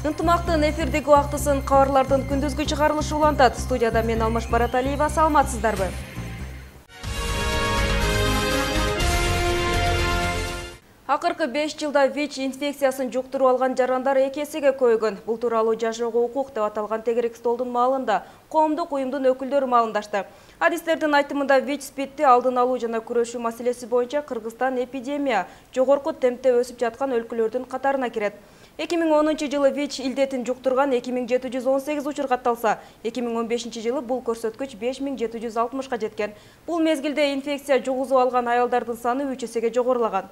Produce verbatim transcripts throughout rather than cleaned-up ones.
Ынтымактын эфирдеги убактысын кабарлардын күндүзгү чыгарылышы улантат. Студияда мен Алмаш Бараталиева, саламатсыздарбы? Акыркы беш жылда ВИЧ инфекциясын жуктуруп алган жарандар эки эсеге көбөйгөн. Бул тууралуу Жашоого укук деп аталган тегерек столдун маалында коомдук уюмдун өкүлдөрү маалымдашты. Адистердин айтымында ВИЧ-спидти алдын алуу жана күрөшүү маселеси боюнча Кыргызстан эпидемия жогорку темпте өсүп жаткан өлкөлөрдүн катарына кирет. эки миң онунчу жылы ВИЧ илдетин жуктурган эки миң жети жүз он сегиз учур катталса, эки миң он бешинчи жылы бул көрсөткүч беш миң жети жүз алтымышка жеткен. Бул мезгилде инфекция жугузуп алган аялдардын саны үч эсеге жогорулаган.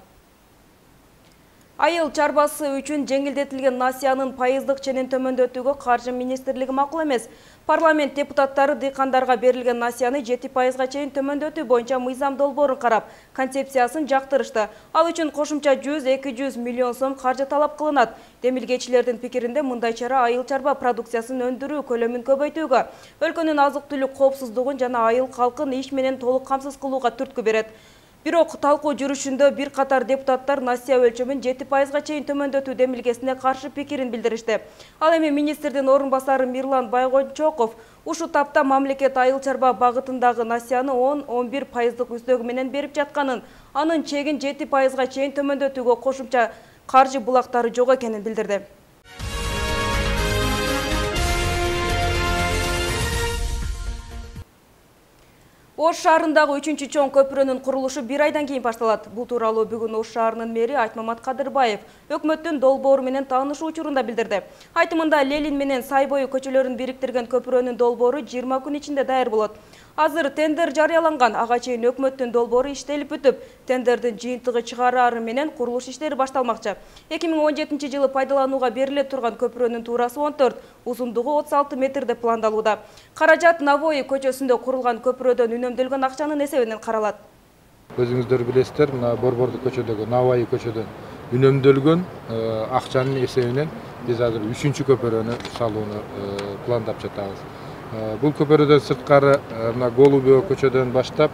Айыл чарбасы үчүн жеңилдетилген насыянын пайыздык ченин төмөндөтүүгө Каржы министрлиги макул эмес. Парламент депутаттары дыйкандарга берилген насыяны жети пайызга чейин төмөндөтүү боюнча мыйзам долбоорун карап, концепциясын жактырышты. Ал үчүн кошумча жүз эки жүз миллион сом каржы талап кылынат. Демилгечилердин пикиринде мындай чара айыл чарба продукциясын өндүрүү көлөмүн көбөйтүүгө, өлкөнүн азык-түлүк коопсуздугун жана айыл калкын иш менен толук камсыз кылууга түрткү берет. Бирок талкуу жүрүшүндө бир катар депутаттар насыя өлчөмүн жети пайызга чейин төмөндөтүү демилгесине каршы пикирин билдиришти. Ал эми министрдин орун басары Мирлан Байгончоков ушу тапта мамлекет айыл чарба багытындагы насыяны он он бир пайыздык үстөгү менен берип жатканын, анын чегин жети пайызга чейин төмөндөтүүгө кошумча каржы булактары жок экенин билдирди. Ош шаарындагы үчүнчү чоң көпүрөнүн курулушу бир айдан кийин башталат. Бул тууралуу бүгүн Ош шаарынын мэри Айтмамат Кадырбаев өкмөттүн долбоору менен таанышуу учурунда билдирди. Айтымында Ленин менен Сай бою көчөлөрүн бириктирген көпүрөнүн долбоору жыйырма күн ичинде даяр болот. Азыр тендер жарыяланган, ага чейин өкмөттүн долбоору иштелип бүтүп, тендердин жыйынтыгы чыгарары менен курулуш иштери башталмакчы. эки миң он жетинчи жылы пайдаланууга бериле турган көпүрөнүн туурасы он төрт, узундугу отуз алты метр деп пландалууда. Каражат Навои көчөсүндө курулган көпүрөдөн үнөмдөлгөн акчанын эсебинен каралат. Өзүңүздөр билесиздер, мына Борбордук көчөдөгү Навои көчөдөн үнөмдөлгөн акчанын эсебинен биз азыр үчүнчү көпүрөнү салууну пландап жатабыз. Бул көпүрөдөн сырткары мына Голубева көчөдөн баштап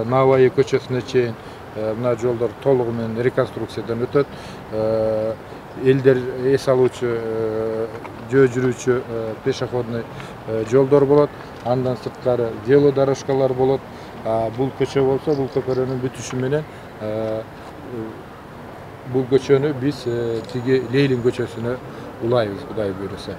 Навои көчөсүнө чейин мына жолдор толугу менен реконструкциядан өтөт. Элдер эс алуучу, жөө жүрүүчү пешеходный жолдор болот. Андан сырткары велодорожкалар болот. Бул көчө болсо, бул көпүрөнүн бүтүшү менен бул көчөнү биз тиги Лейлин көчөсүнө улайбыз, Кудай буйруса.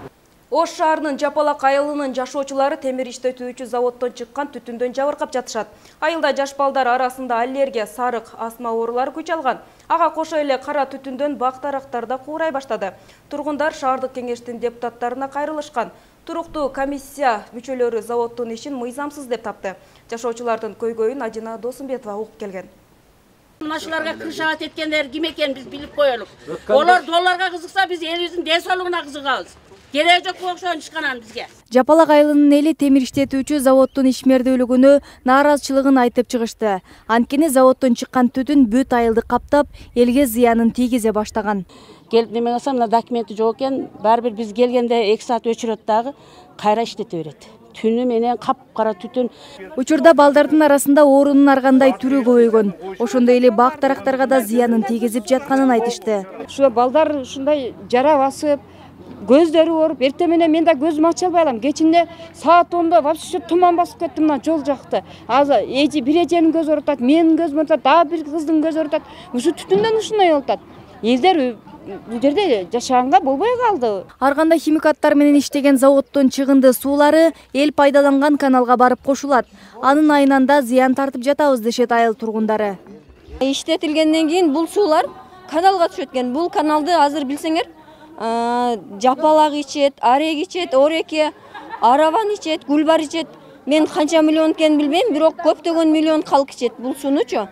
Ош шаарынын Жапалак айылынын жашоочулары темир иштетүүчү заводдон чыккан түтүндөн жабыркап жатышат. Айылда жаш балдар арасында аллергия, сарык, астма оорулары күч алган. Ага кошо эле кара түтүндөн бак-дарактар да куурай баштады. Тургундар шаардык кеңештин депутаттарына кайрылышкан. Туруктуу комиссия мүчөлөрү заводдун ишин мыйзамсыз деп тапты. Жашоочулардын көйгөйүн Адина Досумбетова угуп келген. Машиналарга кыршаат эткендер ким экенин биз билип коелук. Олар долларга кызыкса, биз элибиздин ден соолугуна кызыгабыз. Кереги жок окшон ишканан бизге. Жапалак айылынын эли темир иштетүүчү заводдун ишмердүүлүгүнө нааразычылыгын айтып чыгышты. Анткени заводдон чыккан түтүн бүт айылды каптап, элге зыянын тийгизе баштаган. Келип неме кылсам, мына документи жок экен, баары бир биз келгенде эки саат өчүрөт дагы, кайра иштете берет. Түнү менен капкара түтүн. Учурда балдардын арасында оорунун ар кандай түрү көбөйгөн. Ошондой эле бак-дарактарга да зыянын тийгизип жатканын айтышты. Ушул балдар ушундай жара басып, көздөрү ооруп, эртең менен мен да көзүмү ача албай алам. Кечинде саат онда вообще туман басып кетти мына жол жакты. Азыр эжи бир эженин көзү оорутат, менин көзүм оорутат, дагы бир кыздын көзү оорутат. Ушу түтүндөн ушундай болуп атат. Элдер бул жерде жашаганга болбой калды. Ар кандай химикаттар менен иштеген заводдун чыгынды суулары эл пайдаланган каналга барып кошулат. Анын айынан да зыян тартып жатабыз дешет айыл тургундары. Иштетилгенден кийин бул суулар каналга түшөт экен. Бул каналды азыр билсеңер, Жапалак ичет, Арег ичет, Ореке, Араван ичет, Гүлбар ичет. Мен канча миллион экенин билбейм, бирок көптөгөн миллион калк ичет бул суунучу.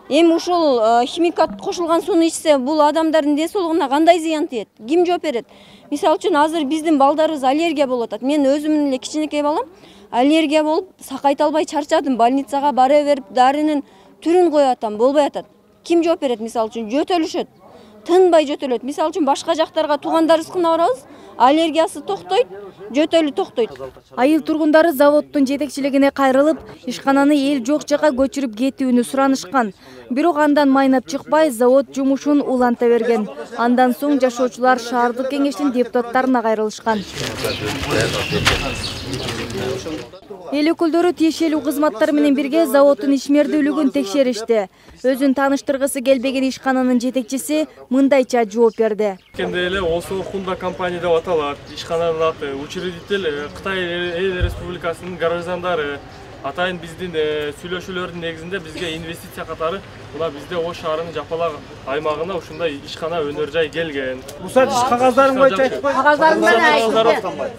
Эми ушул химикат кошулган сууну ичсе, бул адамдардын ден соолугуна кандай зыян тиет? Ким жооп берет? Мисалы үчүн азыр биздин балдарыбыз аллергия болуп атат. Мен өзүмдүн эле кичинекей балам аллергия болуп, сакайта албай чарчадым. Больницага бара берип, дарынын түрүн коюп атам, болбой атат. Ким жооп берет? Мисалы үчүн жөтөлүшөт. Тынбай жөтөлөт. Мисалы үчүн башка жактарга туугандарыбыздыкына барабыз. аллергиясы токтойт, жөтөлү токтойт. Айыл тургундары заводдун жетекчилигине кайрылып, ишкананы эл жок жака көчүрүп кетүүнү суранышкан. Бирок андан майнап чыкпай, завод жумушун уланта берген. Андан соң жашоочулар шаардык кеңештин депутаттарына кайрылышкан. Эл өкүлдөрү тиешелүү кызматтар менен бирге заводдун ишмердүүлүгүн текшеришти. Өзүн тааныштыргысы келбеген ишкананын жетекчиси мындайча жооп берди. Кенде эле Осо Хунда компания деп аталат. Ишкананын аты учредитель Кытай Эл Республикасынын граждандары. Атайын биздин сүйлөшүүлөрдүн негизинде бизге инвестиция катары мына бизде Ош шаарынын Жапалак аймагына ушундай ишкана өнөр жай келген. Рухсат иш кагаздарын боюнча айтпай. Кагаздарын менен айтты.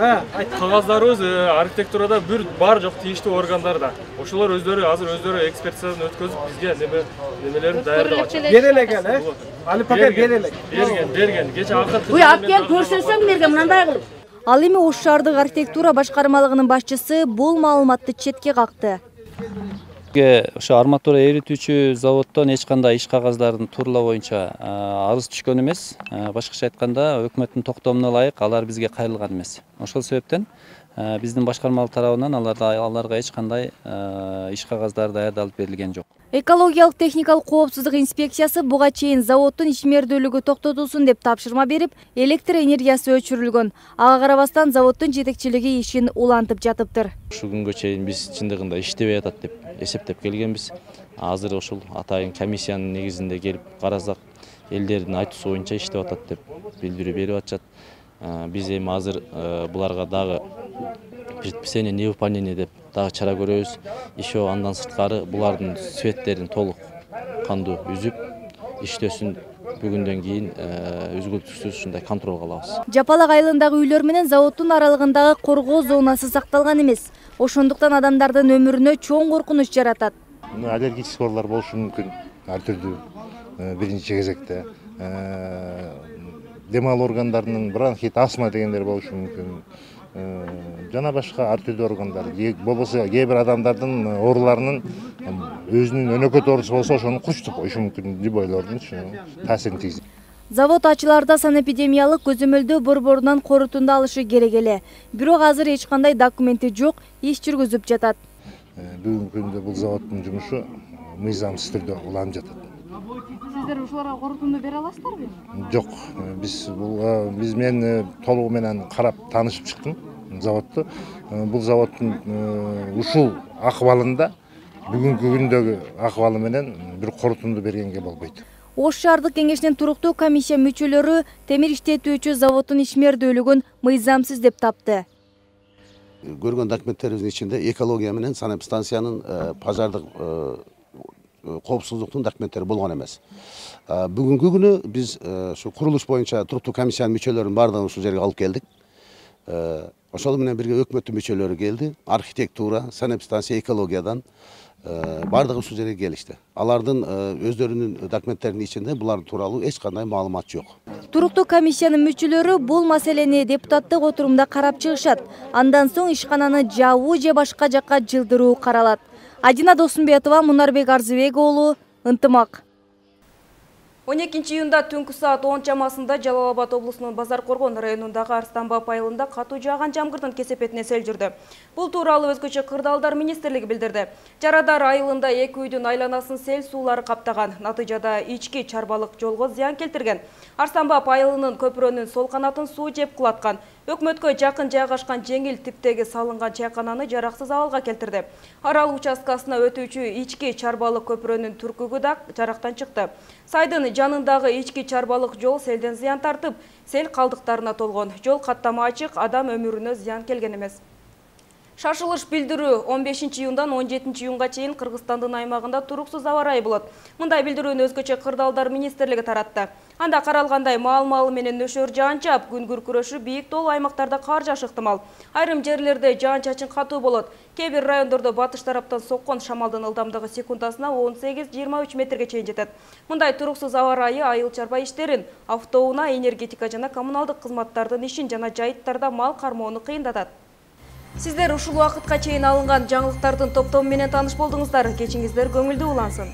Кагаздарыбыз архитектурада бир бар жок тиештүү органдарда. Ошолор өздөрү азыр өздөрү экспертизадан өткөзүп бизге неме немелерин даярдап атышат. Бер элек эле, Али Пакет бер элек. Берген, берген. Кече акыркы. Буй алып кел көрсөтсөң мерге мындай кылып. Ал эми Ош шаардык архитектура башкармалыгынын башчысы бул маалыматты четке какты. Ошо арматура эритүүчү заводдон эч кандай иш кагаздардын тууралоо боюнча арыз түшкөн эмес. Башкача айтканда, өкмөттүн токтомуна ылайык алар бизге кайрылган эмес. Ошол себептен биздин башкармалык тарабынан аларда аларга эч кандай иш кагаздары даярдалып берилген жок. Экологиялык техникалык коопсуздук инспекциясы буга чейин заводдун ишмердүүлүгү токтотулсун деп тапшырма берип, электр энергиясы өчүрүлгөн. Ага карабастан заводдун жетекчилиги ишин улантып жатыптыр. Ушу күнгө чейин биз чындыгында иштебей атат деп эсептеп келгенбиз. Азыр ошол атайын комиссиянын негизинде келип карасак, элдердин айтуусу боюнча иштеп атат деп билдирүү берип атышат. Биз эми азыр буларга дагы предписание невыполнение деп дагы чара көрөбүз. Еще андан сырткары булардын светтерин толук кандуу үзүп, иштөөсүн бүгүндөн кийин үзгүлтүксүз ушундай контролго алабыз. Жапалак айылындагы үйлөр менен заводдун аралыгындагы коргоо зонасы сакталган эмес. Ошондуктан адамдардын өмүрүнө чоң коркунуч жаратат. Аллергический оорулар болушу мүмкүн, ар түрдүү биринчи кезекте. Дем алуу органдарынын бронхит, астма дегендер болушу мүмкүн. Жана башка ар түрдүү органдар, болбосо кээ бир адамдардын ооруларынын өзүнүн өнөкөт оорусу болсо ошону курчтуп коюшу мүмкүн, любойлордун таасирин тийгизет. Завод ачыларда санэпидемиялык көзөмөлдөө борборунан корутунду алышы керек эле. Бирок азыр эч кандай документи жок, иш жүргүзүп жатат. Бүгүнкү күндө бул заводдун жумушу мыйзамсыз түрдө уланып жатат. Сиздер ушуларга корутунду бере аласыздарбы? Жок, биз бул биз мен толугу менен карап таанышып чыктым заводду. Бул заводдун ушул акыбалында бүгүнкү күндөгү акыбалы менен бир корутунду бергенге болбойт. Ош шаардык кеңешинин туруктуу комиссия мүчөлөрү темир иштетүүчү заводдун ишмердүүлүгүн мыйзамсыз деп тапты. Көргөн документтерибиздин ичинде экология менен санэпидстанциянын пожардык коопсуздуктун документтери болгон эмес. Бүгүнкү күнү биз ушу курулуш боюнча туруктуу комиссиянын мүчөлөрүн баардыгын ушул жерге алып келдик. Ошол менен бирге өкмөттүн мүчөлөрү келди. Архитектура, санэпидстанция, экологиядан баардыгы ушул жерге келишти. Алардын өздөрүнүн документтеринин ичинде булар тууралуу эч кандай маалымат жок. Туруктуу комиссиянын мүчөлөрү бул маселени депутаттык отурумда карап чыгышат. Андан соң ишкананы жабуу же башка жакка жылдыруу каралат. Адина Досумбетова, Мунарбек Арзыбек уулу, Ынтымак. он экинчи июнда түнкү саат он чамасында Жалал Абад облусунун Базар Коргон районундагы Арстанбап айылында катуу жааган жамгырдын кесепетине сел жүрдү. Бул тууралуу өзгөчө кырдаалдар министрлиги билдирди. Жарадар айылында эки үйдүн айланасын сел суулары каптаган. Натыйжада ички чарбалык жолго зыян келтирген. Арстанбап айылынын көпүрөнүн сол канатын суу жеп кулаткан. Өкмөткө жакын жайгашкан жеңил типтеги салынган чайкананы жараксыз абалга келтирди. Арал участкасына өтүүчү ички чарбалык көпүрөнүн түркүгү да жарактан чыкты. Сайдын жанындагы ички чарбалык жол селден зыян тартып, сел калдыктарына толгон. Жол каттама ачык, адам өмүрүнө зыян келген эмес. Шашылыш билдирүү он бешинчи июндан он жетинчи июнга чейин Кыргызстандын аймагында туруксуз аба ырайы болот. Мындай билдирүүнү өзгөчө кырдаалдар министрлиги таратты. Анда каралгандай маал-маалы менен нөшөр жаан чаап, күн күркүрөшү бийик тоолуу аймактарда кар жаашы ыктымал. Айрым жерлерде жаан-чачын катуу болот. Кээ бир райондордо батыш тараптан соккон шамалдын ылдамдыгы секундасына он сегиз жыйырма үч метрге чейин жетет. Мындай туруксуз аба ырайы айыл чарба иштерин, автоунаа, энергетика жана коммуналдык кызматтардын ишин жана жайыттарда мал кармоону кыйындатат. Сиздер ушул убакытка чейин алынган жаңылыктардын топтому менен тааныш болдуңуздар. Кечиңиздер көңүлдүү улансын.